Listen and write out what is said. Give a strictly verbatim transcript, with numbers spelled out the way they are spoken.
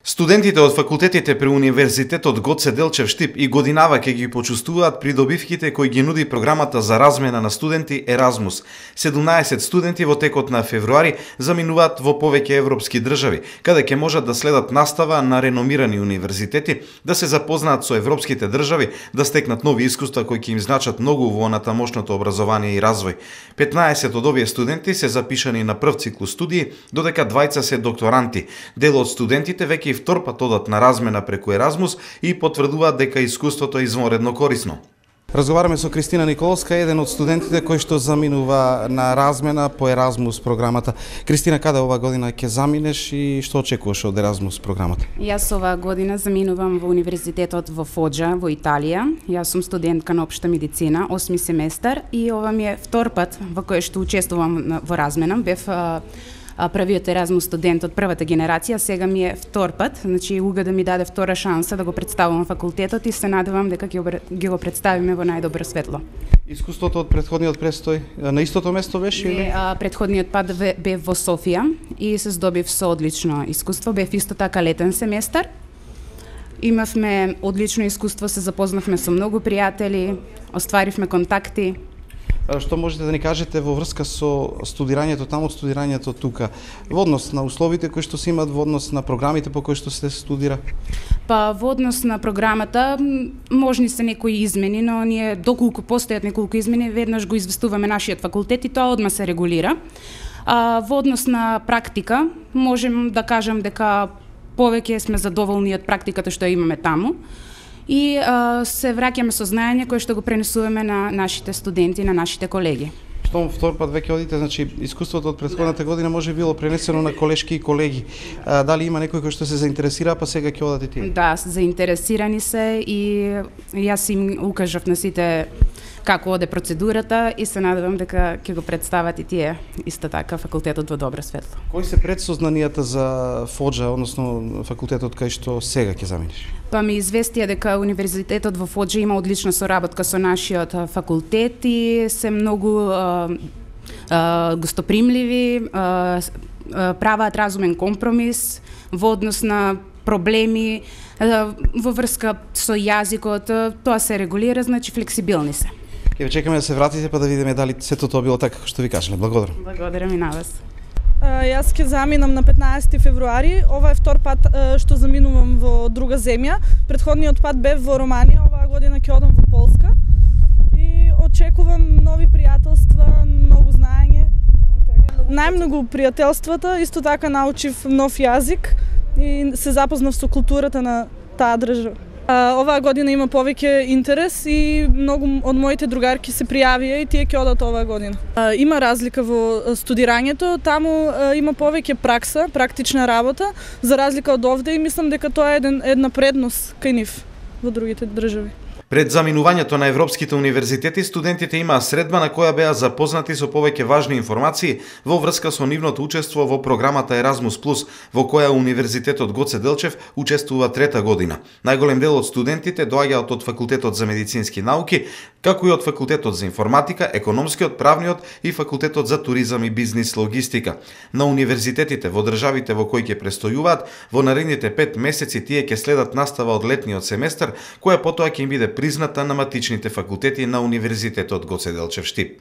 Студентите од факултетите при Универзитетот Гоце Делчев Штип и годинава ќе ги почувствуваат придобивките кои ги нуди програмата за размена на студенти Еразмус. седумнаесет студенти во текот на февруари заминуваат во повеќе европски држави, каде ќе можат да следат настава на реномирани универзитети, да се запознаат со европските држави, да стекнат нови искуства кои ќе им значат многу во натамошното образование и развој. петнаесет од овие студенти се запишани на прв циклус студии, додека двајца се докторанти. Дел од студентите веќе и втор пат одат на размена преку Еразмус и потврдуваат дека искуството е извонредно корисно. Разговараме со Кристина Николовска, еден од студентите кој што заминува на размена по Еразмус програмата. Кристина, каде ова година ќе заминеш и што очекуваш од Еразмус програмата? Јас оваа година заминувам во Универзитетот во Фоџа во Италија. Јас сум студентка на општа медицина, осми семестар, и ова ми е втор пат во кој што учествувам во размена. Бев првиот Еразмус студент од првата генерација, сега ми е втор пат, значи Уга да ми даде втора шанса да го представувам факултетот и се надевам дека ќе го представиме во најдобро светло. Искуството од претходниот престој на истото место беше или? Не, а, претходниот пат бев во Софија и се здобив со одлично искуство, бев исто така летен семестар. Имавме одлично искуство, се запознавме со многу пријатели, остваривме контакти. Што можете да ни кажете во врска со студирањето таму, студирањето тука, во однос на условите кои што се имаат, во однос на програмите по кои што се студира? Па во однос на програмата можни се некои измени, но ние доколку постојат неколку измени, веднаш го известуваме нашиот факултет и тоа одма се регулира. А во однос на практика можем да кажам дека повеќе сме задоволни од практиката што имаме таму. И а, се враќаме со знаење кое што го пренесуваме на нашите студенти, на нашите колеги. Штом втор пат веќе одите, значи искуството од претходната година може било пренесено на колешки и колеги. А, дали има некој кој што се заинтересира, па сега ќе одат и тие? Да, заинтересирани се и јас им укажав на сите како оде процедурата и се надевам дека ќе го представат и тие исто така факултетот во добро светло. Кои се предсознанијата за Фоџа, односно факултетот кај што сега ќе заминеш? Па ми известија дека Универзитетот во Фоџа има одлична соработка со нашиот факултет и се многу а, а, гостопримливи, а, праваат разумен компромис во однос на проблеми а, во врска со јазикот, тоа се регулира, значи флексибилни се. Ќе ве чекаме да се вратите па да видиме дали сето тоа било така како што ви кажале. Благодарам. Благодарам и на вас. Јас ќе заминам на петнаесети февруари. Ова е втор пат што заминувам во друга земја. Претходниот пат бев во Романија, оваа година ќе одам во Полска. И очекувам нови пријателства, многу знаење. Најмногу пријателствата, исто така научив нов јазик и се запознав со културата на таа држава. Оваа година има повеќе интерес и многу од моите другарки се пријавија и тие ќе одат оваа година. Има разлика во студирањето, таму има повеќе пракса, практична работа, за разлика од овде, и мислам дека тоа е една предност кај нив во другите држави. Пред заминувањето на европските универзитети, студентите имаа средба на која беа запознати со повеќе важни информации во врска со нивното учество во програмата Еразмус плюс, во која Универзитетот Гоце Делчев учествува трета година. Најголем дел од студентите доаѓаат од Факултетот за медицински науки, како и од Факултетот за информатика, економскиот, правниот и Факултетот за туризам и бизнис логистика. На универзитетите во државите во кои ќе престојуваат, во наредните пет месеци тие ќе следат настава од летниот семестар, која потоа ќе им биде призната на матичните факултети на Универзитетот Гоце Делчев Штип.